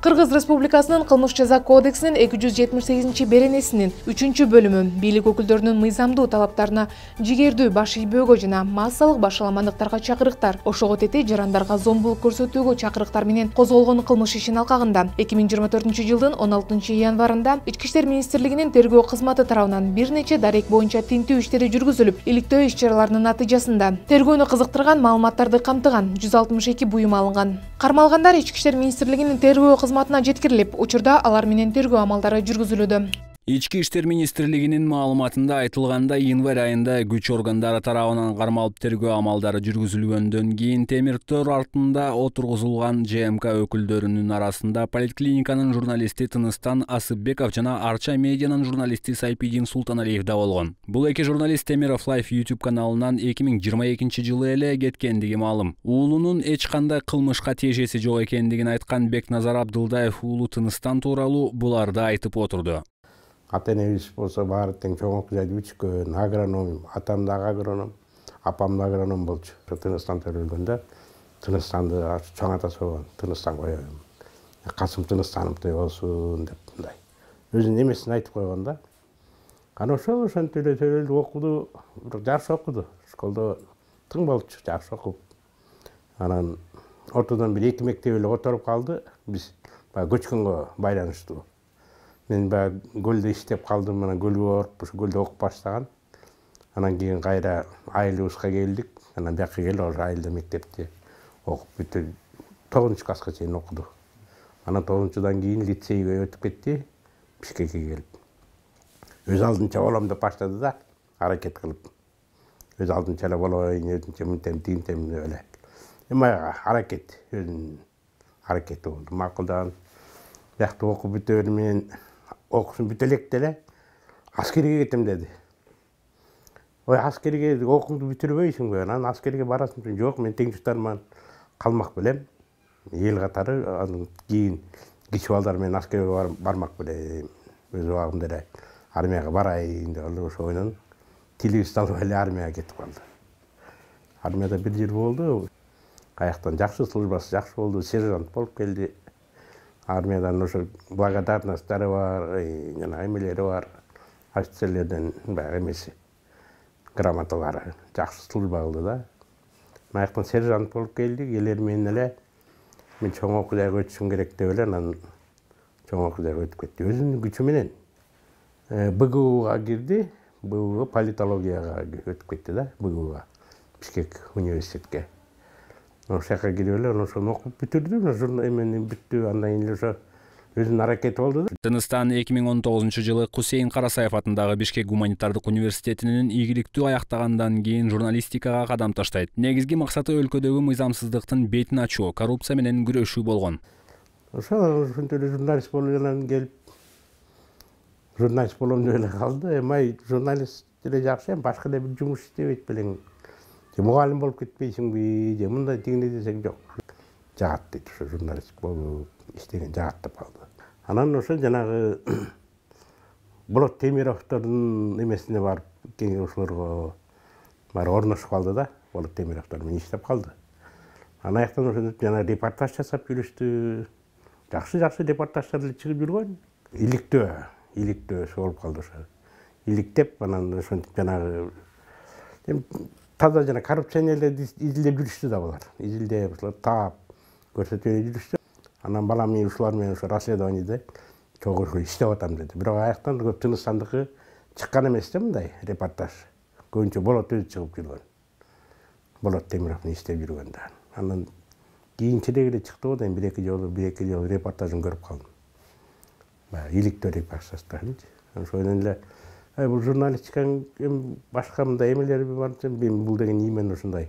Кыргыз Республикасынын Кылмыш жаза кодексинин 278-беренесинин 3-бөлүмү бийлик өкүлдөрүнүн мыйзамдуу талаптарына жигердүү баш ийбөөгө жана массалык башаламандыктарга чакырыктар, ошого тете жарандарга зомбулук көрсөтүүгө чакырыктар менен козголгон кылмыш ишин алкагында 2024-жылдын 16-январында Ички иштер министрлигинин тергөө кызматы тарабынан бир нече дарек боюнча тинтүү иштери жүргүзүлүп, иликтөө иш-чараларынын натыйжасында тергөөнү кызыктырган маалыматтарды камтыган 162 буюм алынган. Кармалгандар Ички иштер министрлигинин тергөө кызматына жеткирилип, учурда алар менен тергөө амалдары жүргүзүлүүдө. Ички иштер министрлигинин маалыматында айтылганда, январь айында күч органдары тарабынан кармалып тергөө амалдары жүргүзүлгөндөн кийин темир төр артында отургузулган ЖМК өкүлдөрүнүн арасында поликлиниканын журналисти Тыныстан Асыпбеков жана Арча медианын журналисти Сайпидин Султаналиев да болгон. Бул эки журналист Темиров Life YouTube каналынан 2022-жылы эле кеткендиги маалым. Уулунун эч кандай кылмышка тиешеси жок экендигин айткан Бекназар Абдылдаев уулу Тыныстан тууралуу буларды айтып отурду. Ата-энебиз болсо баары тең чоң окуяды бүчкөн, агроном, атам дагы агроном, апам да агроном болчу. Тыныстан төрөлгөндө Тыныстанды чоң атасы болгон, Тыныстан коём. Касым Тыныстановдой болсун деп мындай. Өзүнүн эмесин айтып койгон да. Анан ошентип эле төрөлдү, окуду, жакшы окуду. Школдо тың болчу, жакшы окуп. Анан ортодон бир 2 мектеп эле которуп калды. Биз баягы көчкөнгө байланыштуу. Мен баягы көлдө иштеп калдым, анан көлгө барып, ушу көлдө окуп баштаган. Анан кийин кайра айылыбызга келдик. Анан бияка келип, ошо айылда мектепте окуп бүтүп 9-класска чейин окуду. Анан 9-дан кийин лицейге өтүп кетти, Бишкекке келип. Өз алдынча болом деп баштады да, аракет кылып. Өз алдынча эле болоюн, өзүнчө мынтем, тигинтем деп эле. Эми аракет, өзүнүн аракети болду. Макулдан биякта окуп бүтүп эле мен окуусун бүтө электе эле аскерге кетем деди. Ой, аскерге окууңду бүтүрбөйсүңбү? Анан аскерге барасың? Жок, мен теңдештарым менен калмак белем. Эл катары анан кийин кичи балдар менен аскерге бармак белем. Өз убагымда эле армияга барайын деп алып ошондон тилибизди алып эле армияга кетип калды. Армияда 1 жыл болду. Каяктан жакшы службасы жакшы болду, сержант болуп келди. Армиядан ошо благодарносттары бар, жана эмелери бар. Офицерлерден баягы эмеси, грамоталары. Жакшы служба кылды да. Аяктан сержант болуп келди, келер менен эле мен чоң окуяга өтүшүм керек деп эле анан чоң окуяга өтүп кетти. Өзүнүн күчү менен БГУга кирди, БГУга политологияга өтүп кетти да, БГУга, Бишкек университетке. Ошол жака кирип эле ошону окуп бүтүрдү, эмени бүттү, андан кийин ошо өзүнүн аракети болду да. Тыныстан 2019-жылы Кусейин Карасаев атындагы Бишкек гуманитардык университетинин игиликтүү аяктагандан кийин журналистикага кадам таштайт. Негизги максаты өлкөдөгү мыйзамсыздыктын бетин ачуу, коррупция менен күрөшүү болгон. Ошентип эле журналист болуп келип, журналист болом деп эле калды. Эми журналист эле жакшы, башка эле бир жумуш иштебейт белең. Же мугалим болуп кетпейсиңби, же мындай тигиндей десең жок. Жагат дейт, ошо журналист болуп иштеген жагат деп калды. Анан ошо жанагы Болот Темировдордун эмесине барып, ошолорго барып орношуп калды да, Болот Темировдор менен иштеп калды. Анан аяктан ошентип жана репортаж жасап жүрүштү. Жакшы репортаждар эле чыгып жүргөн. Иликтөө болуп калды ошо. Иликтеп, анан ошентип жанагы таза жана коррупционерлерди изилдеп жүрүштү да булар. Изилдеп, ушулар таап көрсөтүп жүрүштү. Анан балам мен ушулар менен ошо расследованиеде чогуу иштеп атам деди. Бирок аяктан көп Тыныстандыкы чыккан эмес да мындай репортаж. Көбүнчө Болот өзү чыгып жүргөн. Болот Темиров менен иштеп жүргөн да. Анан кийинчерээк эле чыкты го да, 1-2 жолу репортажын көрүп калдым. Баягы иликтөө репортаждарын. Ошондон эле бул журналистиканын башка мындай эмелери бар, мен бул деген имен ушундай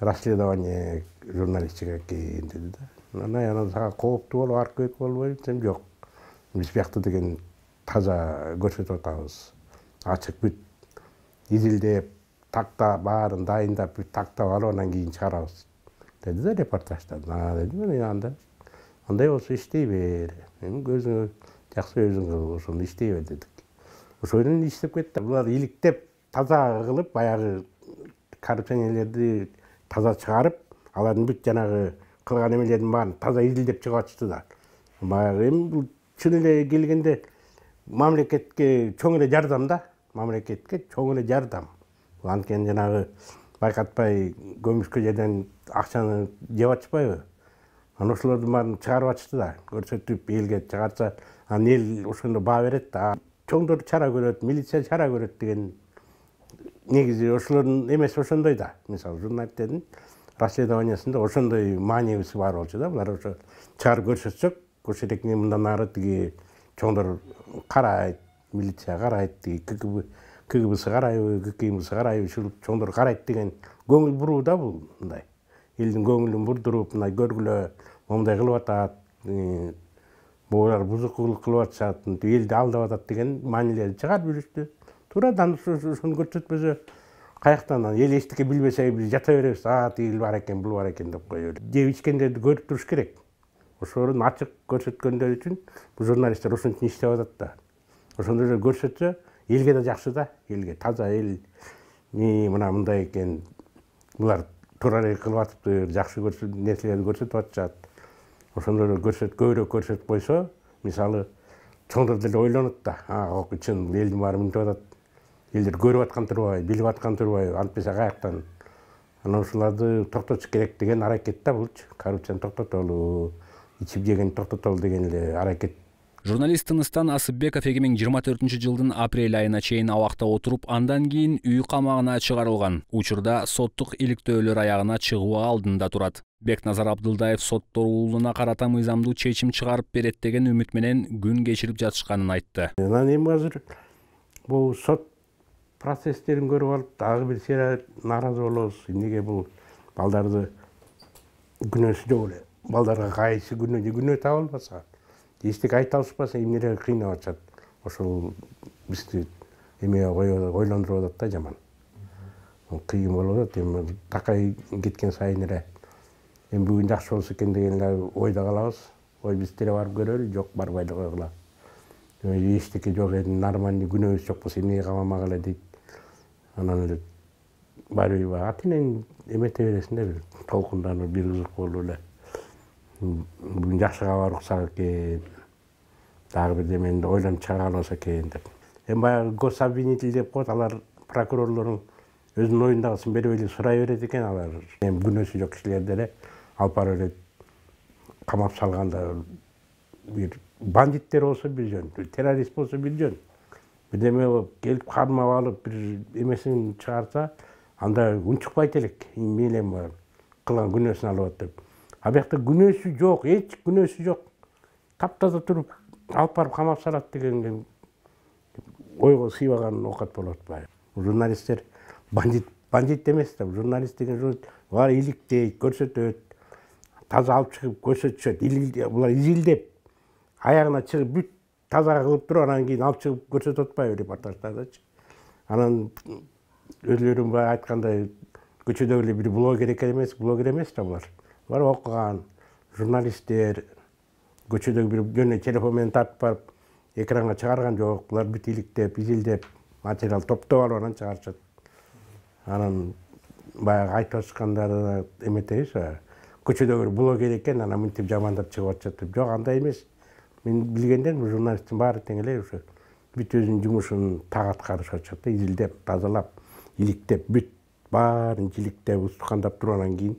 расследование журналистика экен деди да. Анан сага кооптуу болуп, аркыбек болбойбу десем жок. Биз биякта деген таза көрсөтүп атабыз. Ачык бүт изилдеп, такта баарын дайындап, бүт тактап алып анан кийин чыгарабыз деди да репортажда. Деди мен андай болсо иштей бер. Өзүңө жакшы өзүң кыл, ошону иштей бер дедик. Ошондон иштеп кетти. Булар иликтеп, таза кылып, баягы коррупционерлерди таза чыгарып, алардын бүт жанагы кылган эмелердин баарын таза изилдеп чыгып атышты да. Баягы эми бул чын эле келгенде мамлекетке чоң эле жардам да. Мамлекетке чоң эле жардам. Анткени жанагы байкатпай көмүшкө жерден акчаны жеп атышпайбы? Анан ошолордун баарын чыгарып атышты да, көрсөтүп элге чыгарса, анан эл ошондо баа берет да. Чоңдор чара көрөт, милиция чара көрөт деген негизи ошолордун эмеси ошондой да. Мисалы журналисттердин расследованиясында ошондой маанибиси бар болчу да. Булар ошо чыгарып көрсөтсөк, көрсөтөкне мындан ары тиги чоңдор карайт, милиция карайт, тиги КГБсы карайбы, ГКМсы карайбы, ушул чоңдор карайт деген көңүл буруу да бул мындай. Элдин көңүлүн бурдуруп, мындай көргүлө, мондай кылып атат, булар бузукулук кылып атышат, элди алдап атат деген маанилерди чыгарып жүрүштү. Туурадан ошону көрсөтпөсө, каяктан эл эчтеке билбесе биз жата беребиз, тигил бар экен, бул бар экен деп коёбуз. Жеп ичкендерди көрүп туруш керек. Ошолорун ачык көрсөткөндөр үчүн бул журналисттер ошон үчүн иштеп атат да. Ошондой эле көрсөтсө, элге да жакшы да, элге таза эл мына мындай экен, булар туура эле кылып атыптыр, жакшы нерселерди көрсөтүп атышат. Ошондой эле көбүрөөк көрсөтүп койсо, мисалы чоңдор деле ойлонот да, чын элдин баары мынтип атат. Элдер көрүп аткан турбайбы, билип аткан турбайбы, антпесе каяктан. Анан ушуларды токтотуш керек деген аракет да булчу. Коррупцияны токтотолу, ичип жегенди токтотолу деген эле аракет. Журналист Тыныстан Асыпбеков 2024-жылдын апрель айына чейин абакта отуруп, андан кийин үй камагына чыгарылган. Учурда соттук иликтөөлөр аягына чыгуу алдында турат. Бекназар Абдылдаев сотторуулуна карата мыйзамдуу чечим чыгарып берет деген үмүт менен күн кечирип жатышканын айтты. Анан эми азыр бул сот процесстерин көрүп алып, дагы бир сыйра нааразы болобуз. Эмнеге бул балдарды күнөөсү жок эле. Балдарга кайсы күнөө таба албаса, эчтеке айта алышпаса, эмнелерге кыйнап атышат. Ошол бизди эмеге ойлондуруп атат да жаман. Кыйын болуп атат, эми такай кеткен сайын эле эми бүгүн жакшы болсо экен деген эле ойдо калабыз. Ой биз деле барып көрөлү, жок барбай эле койгула. Эчтеке жок эми нормальный күнөөбүз жок болсо эмнеге камамак эле дейт. Анан эле барбайбы атынан эмете бересиң да, бир толкунданып, бир кызык болуп эле. Бүгүн жакшы кабар уксак экен, дагы бирдемени ойлонуп чыгара албаса экен деп. Эми баягы гособвинитель деп коет, алар прокурорлордун өзүнүн оюндагысын берип эле сурай берет экен алар. Эми күнөөсү жок кишилерди эле алып барып эле камап салганда, бир бандиттер болсо бир жөн, террорист болсо бир жөн. Бирдеме болуп келип кармап алып бир эмесин чыгарса, анда унчукпайт элек. Эмне эле кылган күнөөсүн алып деп. А бuyakta күнөөсү жок, эч күнөөсү жок. Таптаза туруп алып барып камап салат деген ойго сыйбаган оокат болот баягы. Журналисттер бандит эмес да, журналист деген булар иликтейт, көрсөтөт, таза алып чыгып көрсөтүшөт. Булар изилдеп, аягына чыгып бүт таза кылып туруп, анан кийин алып чыгып көрсөтүп атпайбы репортаждардачы. Анан өзлөрүн баягы айткандай көчөдөгү эле бир блогер эмес да булар. Булар окуган журналисттер, көчөдөгү бир жөн телефон менен тартып барып экранга чыгарган жок. Булар бүт иликтеп, изилдеп, материал топтоп алып анан чыгарышат. Анан баягы айтып атышкандары эметебиз, көчөдөгү блогер экен, анан мынтип жамандап чыгып атышат деп. Жок, андай эмес. Мен билгенден бул журналисттин баары тең эле ошо бүт өзүнүн жумушун так аткарышып атышат да, изилдеп, тазалап, иликтеп, бүт баарын жиликтеп, устукандап туруп анан кийин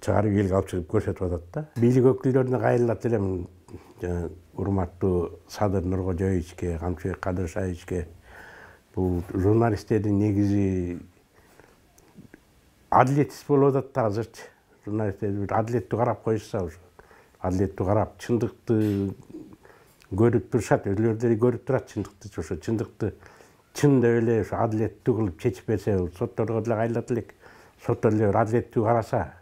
чыгарып элге алып чыгып көрсөтүп атат да. Бийлик өкүлдөрүнө кайрылат элем, урматтуу Садыр Нуркожоевичке, Камчыбек Кадыршаевичке. Бул журналисттердин негизи адилетсиз болуп атат да азырчы. Журналисттерди адилеттүү карап коюшса, адилеттүү карап, чындыкты көрүп турушат, өзүлөрү деле көрүп турат чындыкты, ошо чындыкты чын деп эле ошо адилеттүү кылып чечип берсе, сотторго деле кайрылат элек. Соттор деле адилеттүү караса,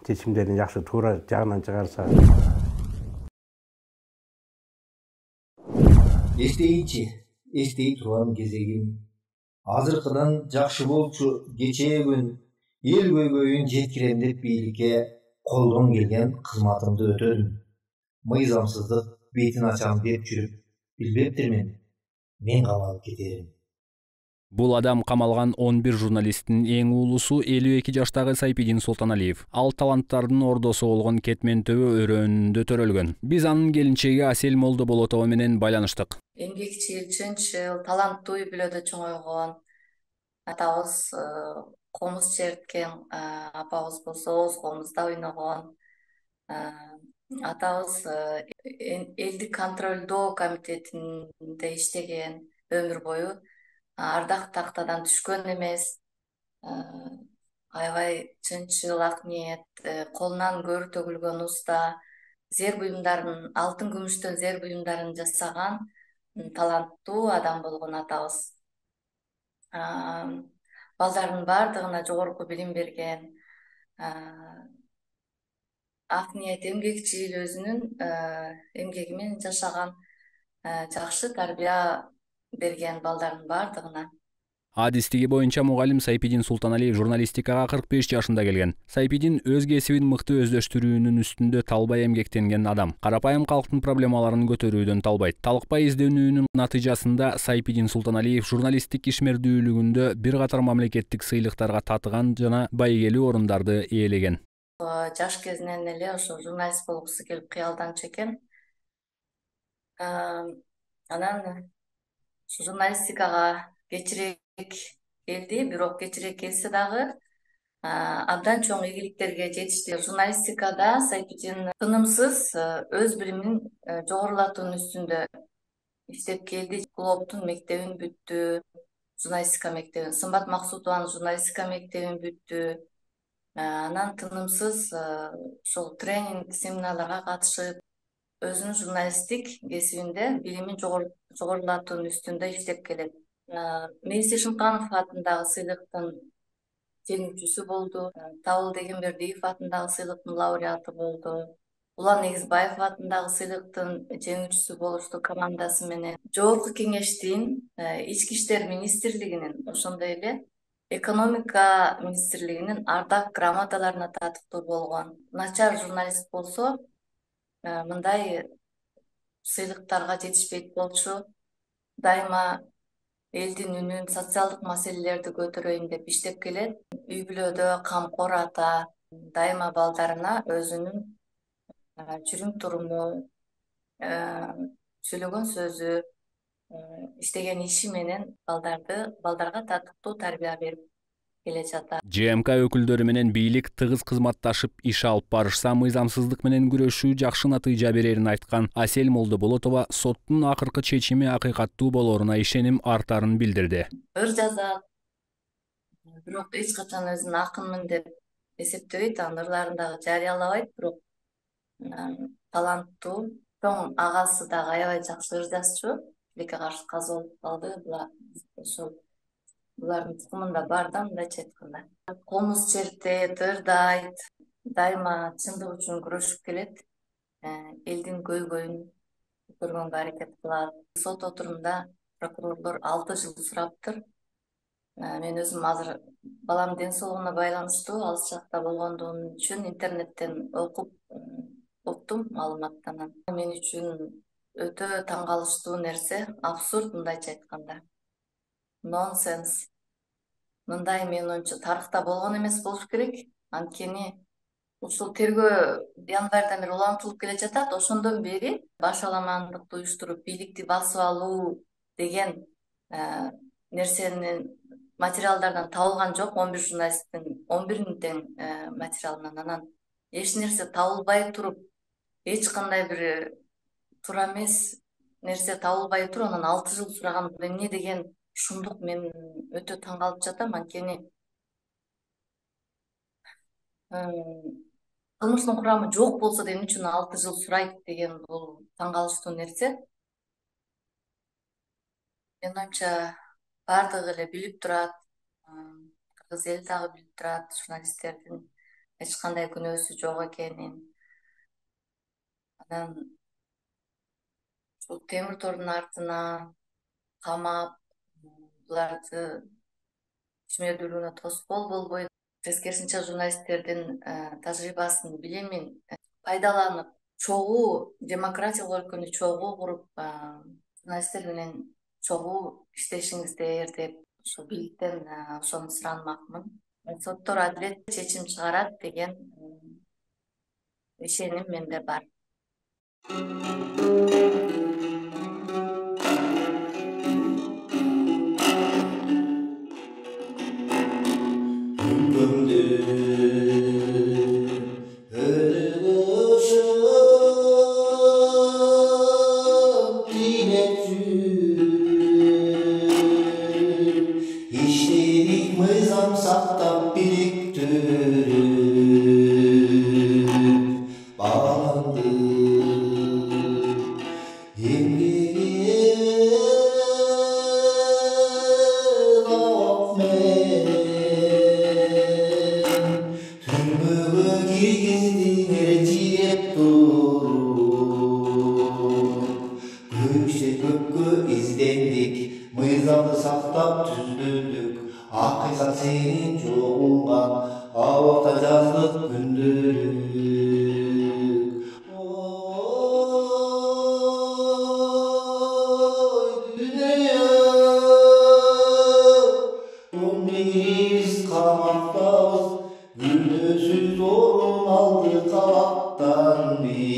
чечимдерин жакшы туура жагынан чыгарса. Эстей турган кезегим. Азыркыдан жакшы болчу кечээгүн эл көйгөйүн жеткирем деп бийликке колдон келген кызматымды өтөдүм. Мыйзамсыздык бетин ачам деп жүрүп билбептирмин, мен камалып кетерим. Бул адам камалган 11 журналисттин эң уулусу 52 жаштагы Сайпидин Султаналиев. Ал таланттардын ордосу болгон Кетмен төбө өрөөнүндө төрөлгөн. Биз анын келинчеги Асель Молдоболотова менен байланыштык. Эмгекчил, чынчыл, таланттуу үй бүлөдө чоңойгон. Атабыз комуз черткен, апабыз болсо Оз комузда ойногон. Атабыз элдик контролдоо комитетинде иштеген өмүр бою. Ардак тактадан түшкөн эмес. Аябай чынчыл, ак ниет, колунан көрү төгүлгөн уста, зер буюмдарын, алтын күмүштөн зер буюмдарын жасаган таланттуу адам болгон атабыз. Балдардын баардыгына жогорку билим берген, ак ниет, эмгекчил, өзүнүн эмгеги менен жашаган, жакшы тарбия берген балдардын баардыгына. Адистиги боюнча мугалим Сайпидин Султаналиев журналистикага 45 жашында келген. Сайпидин өз кесибин мыкты өздөштүрүүнүн үстүндө талбай эмгектенген адам. Карапайым калктын проблемаларын көтөрүүдөн талбайт. Талыкпай изденүүнүн натыйжасында Сайпидин Султаналиев журналисттик ишмердүүлүгүндө бир катар мамлекеттик сыйлыктарга татыган жана байгелүү орундарды ээлеген. Жаш кезинен эле ошо журналист болгусу келип кыялданчу экен. Анан журналистикага кечирээк келди, бирок кечирээк келсе дагы абдан чоң ийгиликтерге жетишти. Журналистикада Сайпидин тынымсыз өз билимин жогорулатуунун үстүндө иштеп келди. Клооптун мектебин бүттү, журналистика мектебин, Сымбат Максутованын журналистика мектебин бүттү. Анан тынымсыз ошол тренинг, семинарларга катышып, өзүнүн журналисттик кесибинде билимин жогорулатуунун үстүндө иштеп келет. Мейис Эшимканов атындагы сыйлыктын жеңүүчүсү болду. Табыл Дегенбердиев атындагы сыйлыктын лауреаты болду. Улан Эгизбаев атындагы сыйлыктын жеңүүчүсү болушту командасы менен. Жогорку Кеңештин, Ички иштер министрлигинин, ошондой эле экономика министрлигинин ардак грамоталарына татыктуу болгон. Начар журналист болсо, мындай сыйлыктарга жетишпейт болчу. Дайыма элдин үнүн, социалдык маселелерди көтөрөйүн деп иштеп келет. Үй бүлөдө камкор ата, дайыма балдарына өзүнүн жүрүм туруму, сүйлөгөн сөзү, иштеген иши менен балдарга татыктуу тарбия берип келе жатат. ЖМК өкүлдөрү менен бийлик тыгыз кызматташып иш алып барышса, мыйзамсыздык менен күрөшүү жакшы натыйжа берерин айткан Асель Молдоболотова соттун акыркы чечими акыйкаттуу болоруна ишеним артарын билдирди. Ыр жазат, бирок эч качан өзүн акынмын деп эсептебейт, анын ырларын дагы жарыялабайт, бирок таланттуу. Чоң агасы дагы аябай жакшы ыр жазчу. Тилекке каршы каза болуп калды. Ошол булардын тукумунда бар да, мындайча айтканда. Комуз чертет, ырдайт, дайыма чындык үчүн күрөшүп келет. Элдин көйгөйүн көтөргөнгө аракет кылат. Сот отурумда прокурорлор 6 жыл сураптыр. Мен өзүм азыр баламдын ден соолугуна байланыштуу алыс жакта болгондугум үчүн интернеттен уктум маалыматтан. Мен үчүн өтө таң калыштуу нерсе, абсурд, мындайча айтканда. Нонсенс. Мындай менин оюмча тарыхта болгон эмес болуш керек. Анткени ушул тергөө январдан бери улантылып келе жатат. Ошондон бери башаламандыкты уюштуруп, бийликти басып алуу деген нерсенин материалдардан табылган жок. 11 журналисттин 11 тең материалынан. Анан эч нерсе табылбай туруп, эч кандай бир туура эмес нерсе табылбай туруп, анан 6 жыл сураган эмне деген шумдук мен өтө таң калып жатам. Анткени кылмыштын курамы жок болсо да эмне үчүн 6 жыл сурайт деген бул таң калыштуу нерсе. Менин оюмча баардыгы эле билип турат, кыргыз эли дагы билип турат журналисттердин эч кандай күнөөсү жок экенин. Анан ушул темир тордун артына камап, буларды ишмердүүлүгүнө тоскоол болбой, тескерисинче журналисттердин тажрыйбасын, билимин пайдаланып, чогуу демократиялык өлкөнү чогуу куруп, журналисттер менен чогуу иштешиңиздер деп ошо бийликтен ошону суранмакмын. Соттор адилет чечим чыгарат деген ишеним менде бар. İşledik mızam saktap biriktirip bağlandı emgege laf menen türmögө kirgizdin ertiyep turup көкше көккө издендик мыйзамды сактап түздүдүк акыйкат сенин жогуңан абакта жаздык күндөрү дүйнө биз камактабыз күнөөсүз орун алды кабактан биз